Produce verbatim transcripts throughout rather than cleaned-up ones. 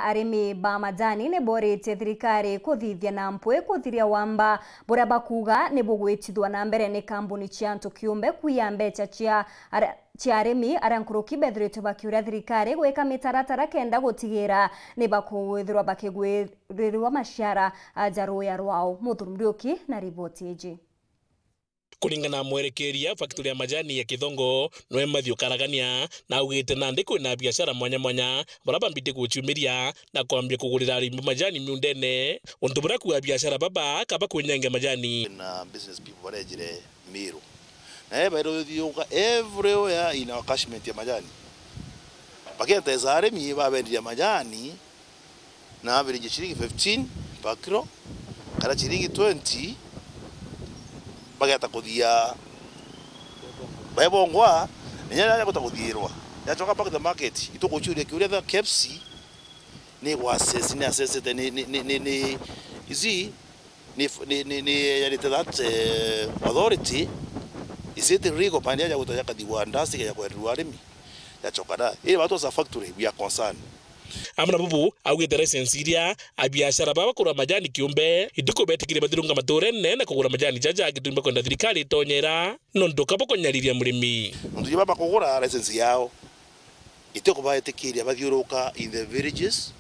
Arimi ba majani ni boritie thirikari kuthithia na mpwi kuthiria wamba buria bakuuga ni bugwitithua na mbere ni kambuni cia antu kiumbe kuiya mbeca cia aria, cia arimi aria nkuruki bethiritwe bakiuria thirikari gwika mitaratara kenda gutigira ni bakwithirwa bakigwirirwa maciara ja ruya rwao. Muthurumu Riuki na riboti iji. Kuringana na mwerekeria factory ya majani ya Kithongo, nwe Matthew Karagania, na augite nandi kwina biashara mwanya mwanya, baria bambite guciumiria na kwambia kugurira arimi majani miundene, untu buria kuuga biashara baba kaba kwinyangia majani. Na business people barejire Meru. Na bairuthiuka everywhere in our catchment ya majani. Bakienteza arimi babendiria majani, na average ciringi fifteen per kilo, kana ciringi twenty, bageta kuthia baebongwa, na inya yaja guta kuthiirwa, yacoka back to the market, itukuciuria kiuria the K F C ni gwa assess, ni assessete, ni, ni, ni, ni, ni, you see, ni, ni, ni, ni yarite that, eh, authority, is it legal, pande yaja guta yakathigwa ndasi ya kwenderwa arimi? Yacoka da. Iri batu as a factory, we are concerned. Amwe na bubu, augite license iria abiashara baba bakura majani kiumbe, itikubetikiria bathirunga maturene na kugura majani jaja agitumba kwenda thirikari itonyera, nontu kaba kunyariria murimi. Nontu ja baba kugura license yao, itikubaetikiria bathiuruka in the villages,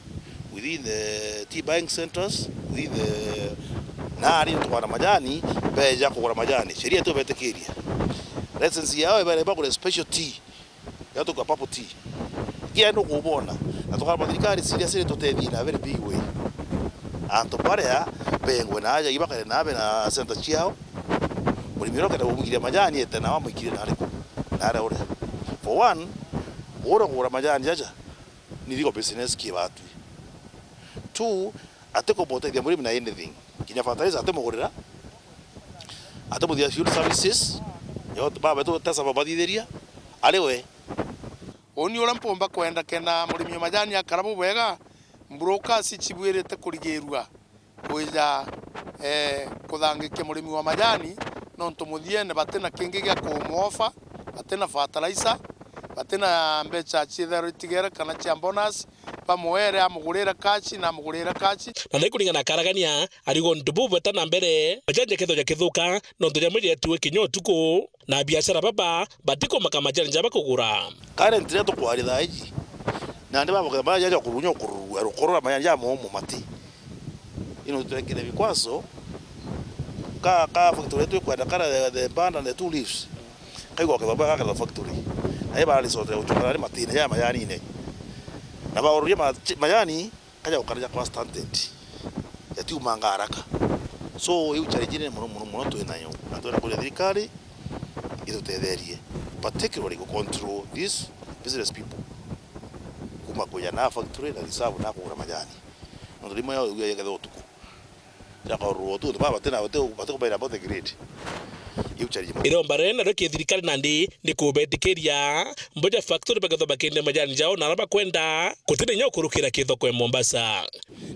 within the tea buying centers, within the, na ari tukwana majani, beja kugura majani. Sheria itubetikiria. License yao ibere bagure special tea. Ya tuka papo tea. Kia ndu kubona. Na tukaba thirikari serious iri tutethie na very big way. Antu baria bengwe na aja ibakare na abe na center ciao. Murimi uria ukenda kumwikiria majani ete na wamwikire na ariku? Na aria uria. For one, ura kugura majani jaja ni legal business kibatwi. Two, atikubutethia murimi na anything. Kinya fertilizer atimugurira, atimuthia field services, yo, baba betu tesa babathithiria, ari we. Uni uria mpumba kwenda kenda murimi wa majani akara bubwega, brokers cibwirite kurigirua kwija, eh, kuthangikia murimi wa majani, nontu muthiene batina kingi gia kumwofa, batina fertilizer, batina mbeca ciithirwa itigere kana cia bonus, bamwere amugurire cash na amugurire cash. Na nai kuringana na Karagania, arigo ntu bubeta na mbere, majani jakethwa jakithuka, nontu jamwe jeetue kinya utuku, na biashara baba batikumaka majani jaba kugura. Currently, riria tukwaria thaa iji, nandi baba majani jaja kurunya ukururua, rukorora majani ja momo mati. Ino twekire bikwaso, ka, ka factory yetu ikwenda kara the, the band and the two leaves. Kaigwa kethwa bwa kara factory. Na iba resort ya uchoka ni matine ya mayanine. Na ba ururia ma-, mayani, kaja gukara ja kwa standard. Yatiumanga haraka. So, iu challenge nene muno, muno, muno twinayo. Na twenda kuria thirikari itutetherie. Particularly ku control these business people. Kuma kuja na factory na reserve na kugura majani. Nontu rimwe yo, yo, yekethwa utuku. Jakorwo tu, ba batina, bati, bati kubaira about the grade. Iu challenge. Iromba rinene nario ki thirikari nandi ni kubetikiria mboja factory bakethwa bakendia majani jao na aria bakwenda, gutina inya ukurukira kithoko e Mombasa.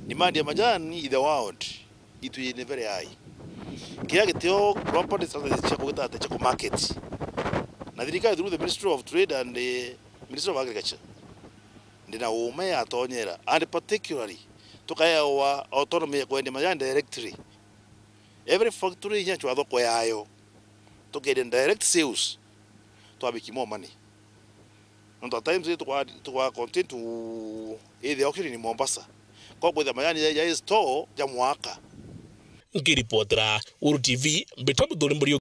Demand ya majani in the world itu ni very high. Kiria gitio property strategy cia kugita ati cia ku market. Na thirikari through the Ministry of Trade and the Ministry of Agriculture, ndina uuma yatonyera, and particularly tukaewa autonomy ya kwendia majani directly. Every factory inya chwa thoko yayo, tukendia direct sales, twabiki more money. Nontu at times tukwa, tukwa continue to, eh, the auction in Mombasa. Kwa kwitha majani ya, ya store ja mwaka. Nkiripotera Uru T V, mbitwa Muthuri Muriuki.